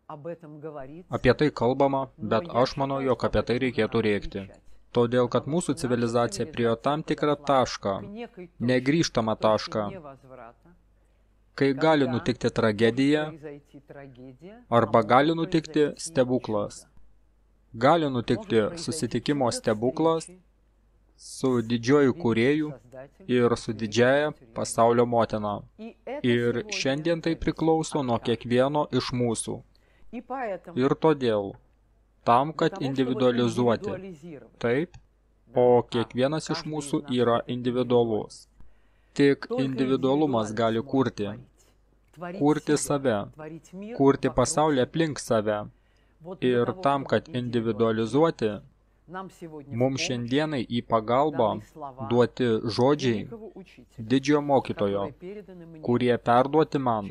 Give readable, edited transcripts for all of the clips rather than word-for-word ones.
Apie tai kalbama, bet aš manau, jog apie tai reikėtų rėkti. Todėl, kad mūsų civilizacija priejo tam tikrą tašką, negrįžtamą tašką, kai gali nutikti tragedija arba gali nutikti stebuklas. Gali nutikti susitikimo stebuklas su didžiuoju kūrėju ir su didžiaja pasaulio motina. Ir šiandien tai priklauso nuo kiekvieno iš mūsų. Ir todėl, tam, kad individualizuoti, taip, o kiekvienas iš mūsų yra individualus. Tik individualumas gali kurti save, kurti pasaulį aplink save. Ir tam, kad individualizuoti, mums šiandienai į pagalbą duoti žodžiai didžiojo mokytojo, kurie perduoti man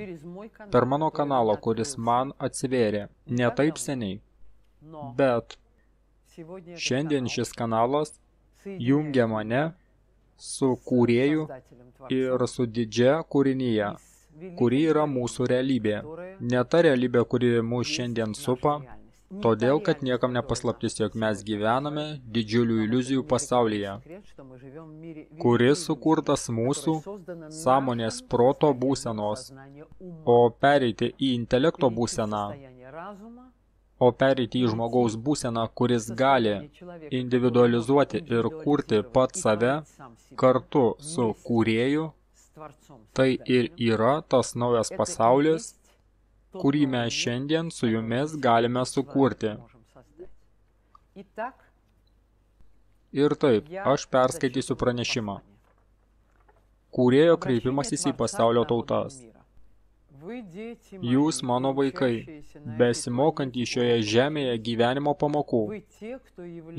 per mano kanalą, kuris man atsivėrė ne taip seniai. Bet šiandien šis kanalas jungia mane su kūrėju ir su didžia kūrinyje, kuri yra mūsų realybė. Ne ta realybė, kuri mūsų šiandien supa, todėl, kad niekam nepaslaptis, jog mes gyvename didžiulių iliuzijų pasaulyje, kuris sukurtas mūsų sąmonės proto būsenos, o pereiti į intelekto būseną, o pereiti į žmogaus būseną, kuris gali individualizuoti ir kurti pat save kartu su kūrėju, tai ir yra tas naujas pasaulis, kurį mes šiandien su jumis galime sukurti. Ir taip, aš perskaitysiu pranešimą. Kūrėjo kreipimasis į pasaulio tautas. Jūs, mano vaikai, besimokantys šioje žemėje gyvenimo pamokų.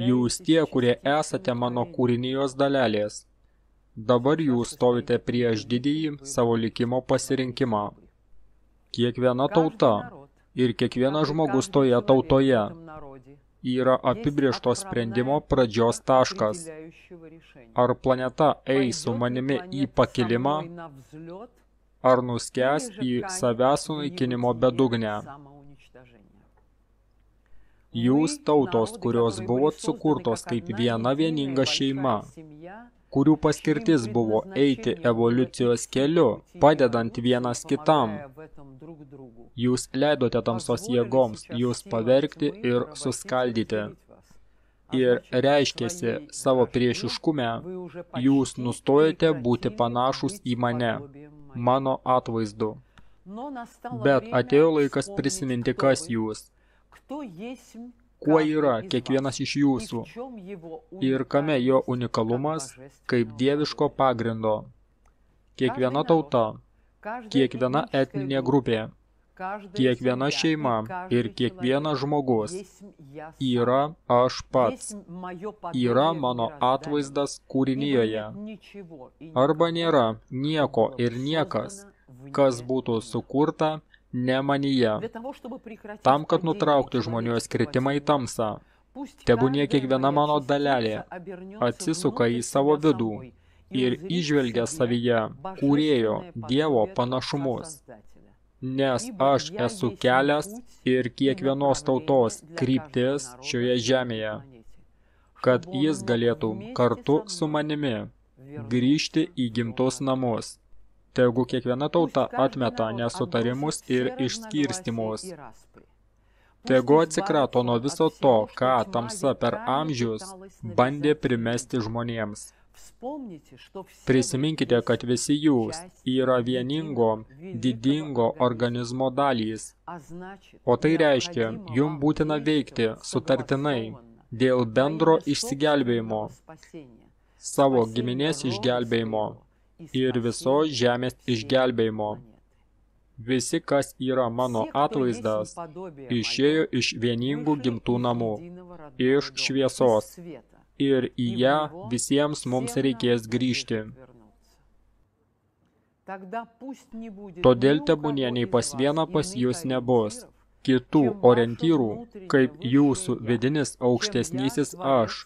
Jūs tie, kurie esate mano kūrinijos dalelės. Dabar jūs stovite prieš didįjį savo likimo pasirinkimą. Kiekviena tauta ir kiekvienas žmogus toje tautoje yra apibrėžto sprendimo pradžios taškas. Ar planeta eis su manimi į pakilimą, ar nuskęs į savęs sunaikinimo bedugnę. Jūs tautos, kurios buvot sukurtos kaip viena vieninga šeima, kurių paskirtis buvo eiti evoliucijos keliu, padedant vienas kitam. Jūs leidote tamsos jėgoms jūs pavergti ir suskaldyti. Ir reiškėsi savo priešiškume, jūs nustojate būti panašus į mane, mano atvaizdu. Bet atėjo laikas prisiminti, kas jūs, kuo yra kiekvienas iš jūsų ir kame jo unikalumas kaip dieviško pagrindo. Kiekviena tauta, kiekviena etninė grupė, kiekviena šeima ir kiekvienas žmogus yra aš pats, yra mano atvaizdas kūrinijoje. Arba nėra nieko ir niekas, kas būtų sukurta ne manyje. Tam, kad nutraukti žmonijos kritimą į tamsą, tebūnie kiekviena mano dalelė atsisuka į savo vidų ir įžvelgia savyje kūrėjo Dievo panašumus. Nes aš esu kelias ir kiekvienos tautos kryptis šioje žemėje, kad jis galėtų kartu su manimi grįžti į gimtus namus. Tegu kiekviena tauta atmeta nesutarimus ir išskirstimus. Tegu atsikrato nuo viso to, ką tamsa per amžius bandė primesti žmonėms. Prisiminkite, kad visi jūs yra vieningo, didingo organizmo dalys. O tai reiškia, jums būtina veikti sutartinai dėl bendro išsigelbėjimo, savo giminės išgelbėjimo ir visos žemės išgelbėjimo. Visi, kas yra mano atvaizdas, išėjo iš vieningų gimtų namų, iš šviesos, ir į ją visiems mums reikės grįžti. Todėl tebūnie nei pas vieną pas jūs nebus kitų orientyrų, kaip jūsų vidinis aukštesnysis aš,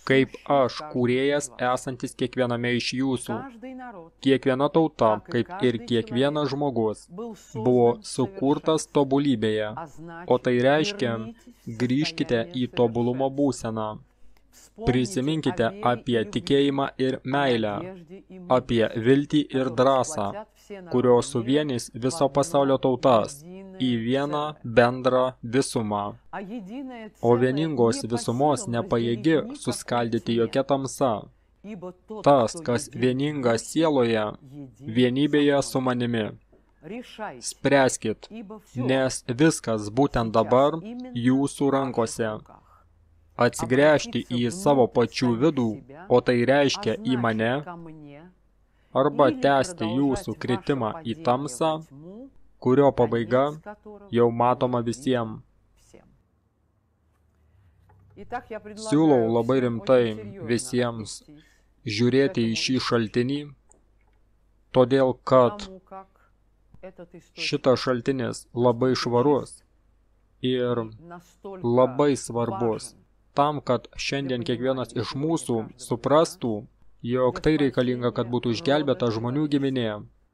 kaip aš, kūrėjas, esantis kiekviename iš jūsų. Kiekviena tauta, kaip ir kiekvienas žmogus, buvo sukurtas tobulybėje, o tai reiškia, grįžkite į tobulumo būseną. Prisiminkite apie tikėjimą ir meilę, apie viltį ir drąsą, kurios suvienys viso pasaulio tautas į vieną bendrą visumą. O vieningos visumos nepajėgi suskaldyti jokia tamsa. Tas, kas vieningas sieloje, vienybėje su manimi. Spręskit, nes viskas būtent dabar jūsų rankose. Atsigręžti į savo pačių vidų, o tai reiškia į mane, arba tęsti jūsų kritimą į tamsą, kurio pabaiga jau matoma visiems. Siūlau labai rimtai visiems žiūrėti į šį šaltinį, todėl kad šitas šaltinis labai švarus ir labai svarbus tam, kad šiandien kiekvienas iš mūsų suprastų, jog tai reikalinga, kad būtų išgelbėta žmonių giminė.